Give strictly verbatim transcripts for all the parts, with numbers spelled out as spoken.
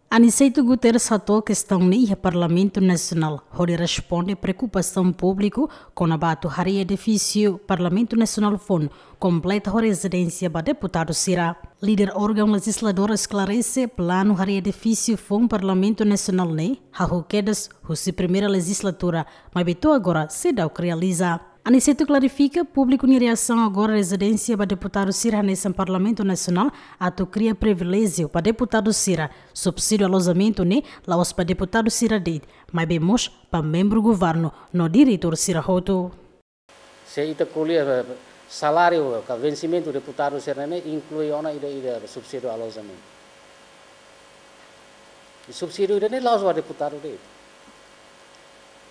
Aniceto Guterres hato'o kestaun ne'e iha Parlamentu Nasionál, hodi responde preokupasaun públiku kona-ba atu harii edifísiu Parlamentu Nasionál foun kompleta ho rezidénsia ba deputadu sira. Líder órgaun lejizladór esklarese planu harii edifísiu foun Parlamentu Nasionál ne'e hahú kedas husi primeira lejizlatura, maibé to'o agora seidauk realiza. Aniceto klarifika, públiku nia reasaun agora rezidénsia ba deputadu sira hanesan Parlamentu Nasionál atu kria priviléjiu ba deputadu sira, subsídiu alojamentu ne'e la'ós ba deputadu sira de'it, maibé mós ba membru governu no diretór sira hotu. Se ita ko'alia, eh, saláriu ka vensimentu deputadu sira ne'e inklui ona ida-ida subsídiu alojamentu. I subsídiu ida-ne'e la'ós ba deputadu de'it.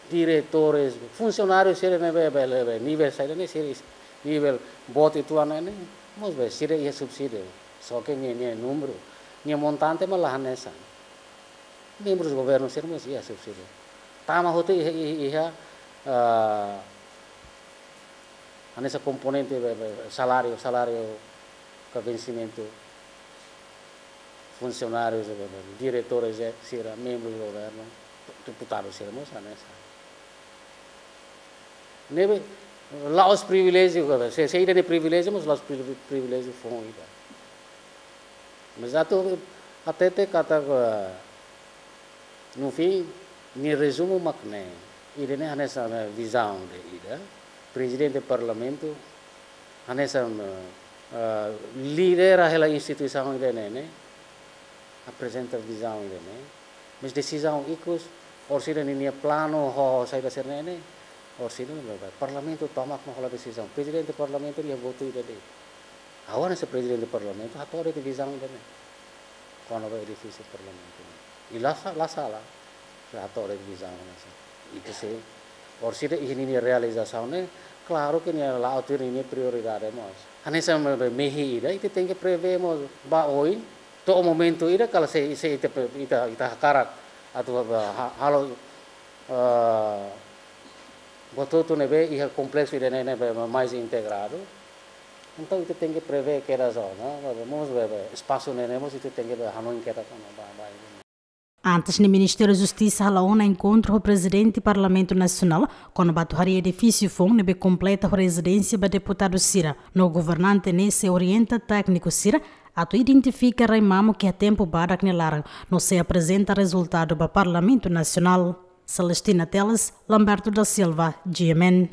Diretores, funsionáriu sira ne'ebé, be, be, be, nivel saida ne'e, sira is-, nivel boot uitoan ne'e, mós be, sira iha subsídiu. Só ke nia, nia númeru, nia montante mak la hanesan. Membru governu sira mós iha subsídiu. Tama hotu iha, iha, iha, ah, hanesan komponente, be, be, saláriu, saláriu ka vensimentu funsionáriu, be, be, diretores, eh, sira, membru governu, deputadu sira mós hanesan. Ne'ebé, la'ós priviléjiu, se, se ida-ne'e priviléjiu, mas la'ós privi-, priviléjiu foun ida. Mas atu hatete katak, eh, no fim, nia rezumu mak ne'e, ida-ne'e hanesan, eh, vizaun de'it ida, Prezidente Parlamentu, hanesan, eh, eh, lidera hela instituisaun ida-ne'e, ne'e, aprezenta vizaun ida-ne'e, mas desizaun ikus, orsida ninia planu ho saida sira-ne'e ne'e, orsida ne'e, Parlamentu tomak mak hola desizaun. Prezidente Parlamentu nia votu ida de'it. Agora se Prezidente Parlamentu hato'o de'it vizaun ida-ne'e. Kona-ba edifísiu Parlamentu ne'e. I la sa-, la sala. Se hato'o de'it vizaun ne'e. Ita sei, orsida iha ninia realizasaun ne'e, klaru ke nia la'o tuir ninia prioridade mós. Hanesan be, be, mehi ida, ita tenke prevee mós ba oin, to'o momentu ida, kala se, se ita pe-, ita, ita hakarak atu ba, ha-, halo, eh, buat hotu ne'ebé iha kompleksu ida-ne'e, ne'ebé mais integradu. Entaun ita tenke prevee kedas ona, be, be, mós be, be, espasu ne'e, ne'e mós ita tenke be, hanoin kedas ona, ba, ba, ida. Antes ne'e Ministériu Justisa hala'o ona enkontru ho Prezidente Parlamentu Nasionál, kona-ba atu harii edifísiu foun ne'ebé kompleta ho rezidénsia ba deputadu sira, no governante ne'e sei orienta tékniku sira atu identifika rai mamuk iha tempu badak nia laran, no sei aprezenta rezultadu ba Parlamentu Nasionál. Celestina Teles, Lamberto da Silva, G M N.